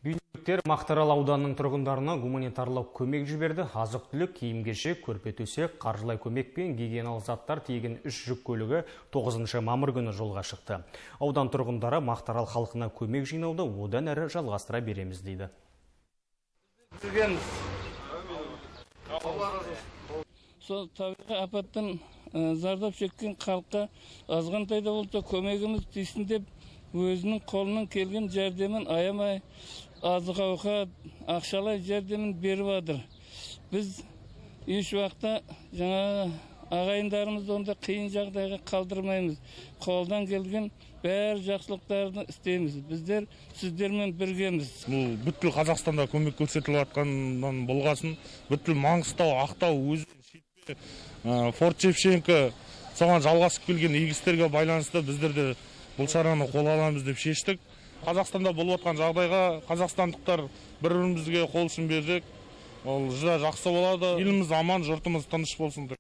Үйіндіктер Мақтаарал ауданының тұрғындарына гуманитарлық көмек жіберді. Азық-түлік, киім-кешек, көрпе-төсек, қаржылай көмек пен гигиеналық заттар тиеген 3 жүк көлігі 9 мамыр күні жолға шықты. Аудан тұрғындары Мақтаарал халқына көмек жинауды одан әрі жалғастыра береміз дейді. Сол табиғи апаттан зардап шеккен халыққа азғантай да болса көмегіміз тисін деп өзінің қолынан келген жәрдемін аямай азық-ауқат, ақшалай жәрдемін беріп жатыр. Біз еш уақытта жаңа ағайындарымызды онда қиын жағдайға қалдырмаймыз. Қолдан келген бәр жақсылықтарды істейміз. Біздер сіздермен біргеміз. Бұл бүткіл Қазақстанда көмек көрсетіліп жатқаннан болғасын, бүткіл Маңғыстау, Ақтау, Өзен, Форт Шевченко соған жалғасып келген егістерге байланысты біздер де бұл шараны қол аламыз деп шештік. Қазақстанда болып жатқан жағдайға қазақстандықтар бір-бірімізге қол ұшын берсек, ол жақсы болады. Еліміз аман, жұртымыз тыныш болсын деп.